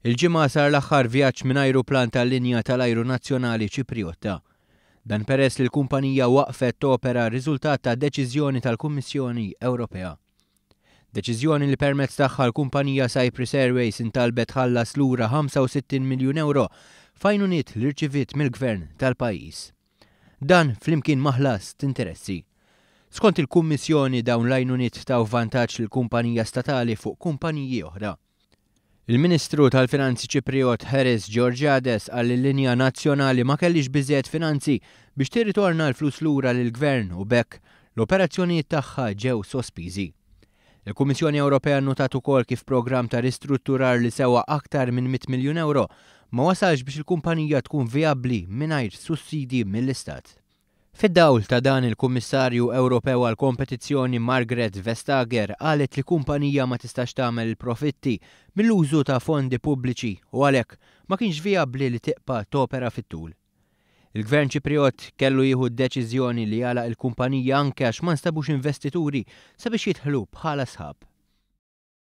Il-Ġimgħa sar l-aħħar vjaġġ minn ajruplan tal-linja tal-ajru nazzjonali Ċipriotta. Dan peress li l-kumpanija waqfet topera riżultat ta' deċiżjoni tal-Kummissjoni Ewropea. Deċiżjoni li permezz tagħha l-kumpanija Cyprus Airways intalbet tħallas lura 65 miljun ewro f'għajnuniet li rċiviet mill-Gvern tal-pajjiż. Dan flimkien ma' ħlas t'interessi. Skont il-Kummissjoni dawn l-għajnuniet taw vantaġġ lill-kumpanija statali fuq kumpaniji oħra. Il-Ministru tal-Finanzi Ċipriot Haris Georgiades qal li l-linja nazzjonali ma kellhiex biżżejjed finanzi biex tirritorna l-flus lura lill-Gvern u b'hekk l-operazzjonijiet tagħha ġew sospiżi. Il-Kummissjoni Ewropea nnutat ukoll kif programm ta' ristrutturar li sewa aktar minn 100 miljun ewro ma wasalx biex il-kumpanija tkun vijabbli mingħajr sussidji mill-Istat. Fid-dawl ta' dan il-Kummissarju Ewropew għall-Kompetizzjoni Margrethe Vestager qalet li kumpanija ma tistax tagħmel il-profitti mill-użu ta' fondi pubbliċi u għalhekk ma kienx vijabbli li tibqa' topera fit-tul. Il-Gvern Ċipriott kellu jieħu d-deċiżjoni li jagħlaq il-kumpanija anke għax ma nstabux investituri sabiex jidħlu bħala sħab.